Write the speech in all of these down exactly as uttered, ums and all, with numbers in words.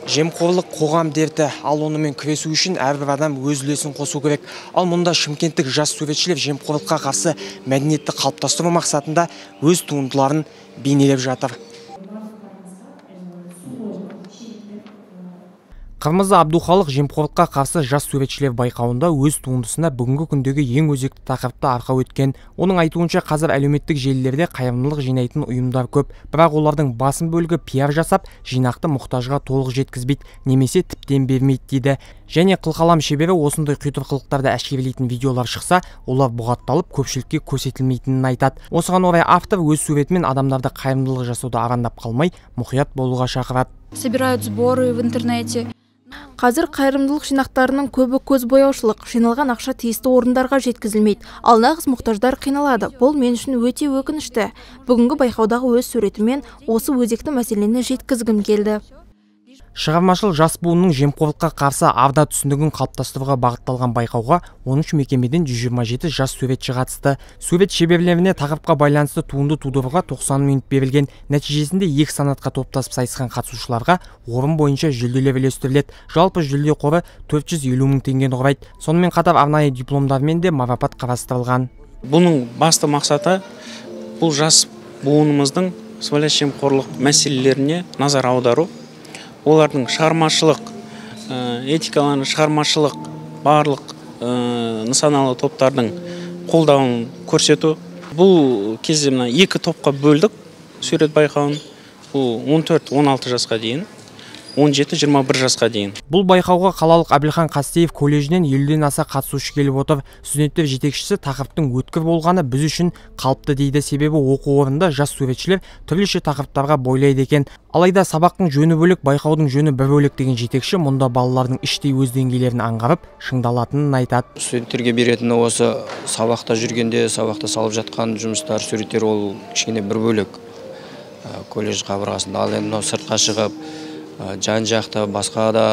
Жемқорлық қоғам дерті, ал онымен күресу үшін әрбір адам өз үлесін қосу керек. Ал мұнда шымкенттік жас суретшілер жемқорлыққа қарсы мәдениетті қалыптастыру мақсатында өз туындыларын бейнелеп жатыр. Қырмызы Абдухалық жемқорлыққа қарсы жас суретшілер байқауында өз туындысына бүгінгі күндегі ең өзекті тақырыпты арқау еткен. Оның айтуынша, қазір әлеуметтік желілерде қайырымдылық жинайтын ұйымдар көп, бірақ олардың басым бөлігі пиар жасап, жинақты мұқтажға толық жеткізбейді, немесе тіптен бермейді дейді. Және қылқалам шебері осындай құйтыр қылықтарды әшкерелейтін видеолар шықса, олар бұғатталып көпшілікке көрсетілмейтінін айтады. Осыған орай автор өз суретімен адамдарды қайырымдылық жасауды арандап қалмай, мұқият болуға шақырады. Собирают сборы в интернете. Қазір қайырымдылық жинақтарының көбі көз бояушылық, жиналған ақша тиісті орындарға жеткізілмейді. Ал нағыз мұқтаждар қиналады. Бұл мен үшін өте өкінішті. Бүгінгі байқаудағы өз суретімен осы өзекті мәселені жеткізгім келді. Шығармашыл жас буынның жемқорлыққа қарсы арда түсінігін қалыптастыруға бағытталған байқауға он үш мекемеден жүз жиырма жеті жас суретші қатысты. Сурет шеберлеріне тақырыпқа байланысты туынды тудыруға тоқсан минут берілген. Нәтижесінде екі санатқа топтасып сайысқан қатысушыларға орын бойынша жүлделер үлестіріледі. Жалпы жүлде қоры төрт жүз елу мың теңгені құрайды. Сонымен қатар арнайы дипломдармен де марапат қарастырылған. Бұның басты мақсаты бұл жас буынымыздың сыбайлас жемқорлық мәселелеріне назар аудару. Олардың шығармашылық, этикаларын, шығармашылық барлық нысаналы топтардың қолдауын көрсету. Бұл кезде мына екі топқа бөлдік сурет байқауын. Бұл он төрт он алты жасқа дейін, он жеті жиырма бір жасқа дейін. Бұл байқауға қалалық Әбілхан Қастеев колледжінен елуден аса қатысушы келіп отыр. Студенттер жетекшісі тақырыптың өткір болғаны біз үшін қалыпты дейді, себебі оқу орнында жас суретшілер түрліше тақырыптарға бойлайды екен. Алайда сабақтың жөні бөлек, байқаудың жөні бір бөлек деген жетекші мұнда балалардың іштей өз деңгейлерін аңғарып, шыңдалатынын айтады. Студенттерге беретіні осы сабақта жүргенде, сабақта салып жатқан жұмыстар, суреттер ол кішкене бір бөлек колледж қабырғасында. Ал енді сыртқа шығып, жан жақты басқа да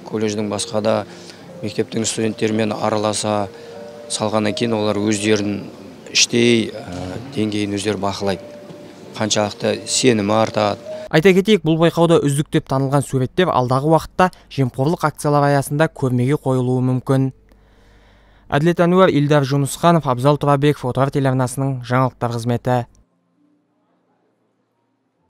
колледждің басқа да мектептің студенттерімен араласа салғаннан кейін олар өздерін іштей деңгейін өздері бақылайды. Қаншалықты сенімі артады. Айта кетейік, бұл байқауда үздік деп танылған суреттер алдағы уақытта жемқорлық акциялар аясында көрмеге қойылуы мүмкін. Әділет Әнуар, Илдар Жунусханов, Абзал Тұрабеков, Отар телеарнасының жаңалықтар қызметі.